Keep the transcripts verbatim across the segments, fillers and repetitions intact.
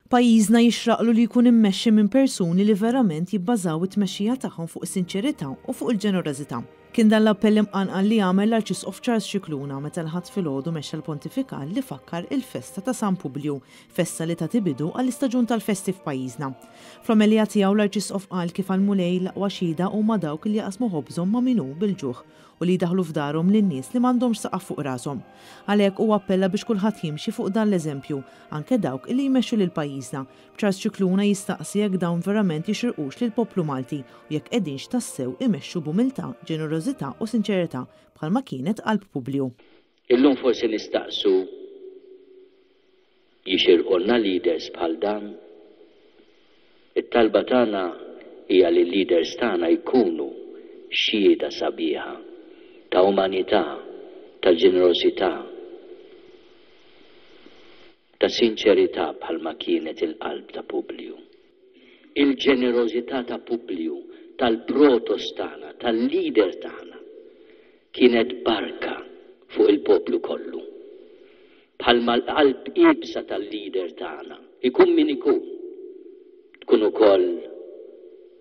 Pajjiżna jixraqlu li jkun immexxi minn persuni li verament jibbażaw it-tmexxija tagħhom fuq is-sinċerità u fuq il-ġenerożità. Kien dan l-appell imqanqal li għamel l-Arċisqof Charles Scicluna meta l-Ħadd filgħodu mexxa l-pontifikal li fakkar il-festa ta' San Publju, festa li tagħti bidu għall-istaġun tal-festi f'pajjiżna. Fl-omelija tiegħu l-Arċisqof qal kif għall-Mulej l-aqwa xhieda huma dawk li jaqsmu ħobżhom ma' min hu bil-ġuħ u li jdaħħlu f'darhom lin-nies li m'għandhomx saqaf fuq rashom. Għalhekk huwa appella biex kulħadd jimxi fuq dan l-eżempju, anke dawk li jmexxu lil pajjiżna. Charles Scicluna jistaqsi jekk dawn verament jixirqux lill-poplu Malti u jekk qegħdinx tassew imexxu b'umiltà, ġenerożità u sinċerità bħalma kienet qalb Publju. Illum forsi nistaqsu jixirqulna leaders bħal dan. It-talba tagħna hija li l-leaders tagħna jkunu xhieda sabiħa ta' umanità, ta' ġenerożità, ta' sinċerità bħalma kienet il-qalb ta' Publju. Il-ġenerożità ta' Publju, tal-protos tagħna, tal-leader tagħna, kienet barka fuq il-poplu kollu. Bħalma l-qalb iebsa tal-leader tagħna, ikun min ikun, tkun ukoll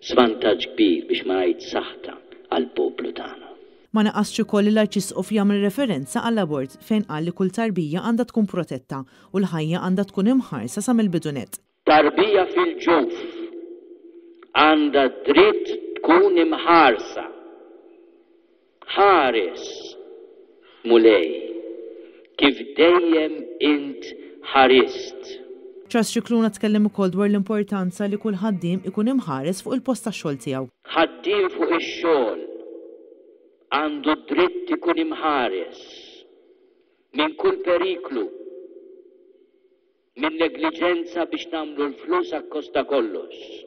svantaġġ kbir biex ma ngħid saħta għall-poplu tagħna. Ma naqasx ukoll l-Arċisqof jagħmel referenza għall-abort fejn qal li kull tarbija għandha tkun protetta u l-ħajja għandha tkun imħarsa sa mill-bidu nett. Tarbija fil-ġuf għandha dritt tkun imħarsa. Ħares, Mulej, kif dejjem int ħarist. Charles Scicluna tkellem ukoll dwar l-importanza li kull ħaddiem ikun imħares fuq il-post tax-xogħol tiegħu. Ħaddiem fuq ix-xogħol għandu dritt ikun imħares minn kull periklu, minn negliġenza biex nagħmlu l-flus akkost ta' kollox.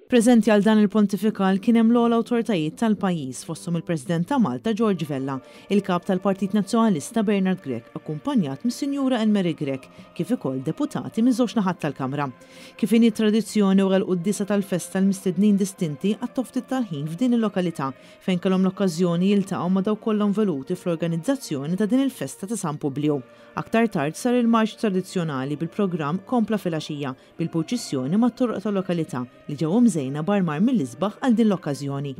Preżenti għal dan il-pontifikal kien hemm l-ogħla awtoritajiet tal-pajjiż fosthom il-President ta' Malta George Vella, il-kap tal-Partit Nazzjonalista Bernard Grech, akkumpanjat mis-Sinjura Anne-Marie Grech, kif ukoll deputati minn żewġ naħat tal-Kamra. Kif inhi tradizzjoni wara l-quddiesa tal-festa l-mistednin distinti qattgħu ftit tal-ħin f'din il-lokalità fejn kellhom l-okkażjoni jiltaqgħu ma' dawk kollha involuti fl-organizzazzjoni ta' din il-festa ta' San Publju. Aktar tard sar il-marċ tradizzjonali bil-programm kompla filgħaxija bil-purċissjoni mat-toroq tal-lokalità li ġew imżejna b'armar mill-isbaħ għal din l-okkażjoni.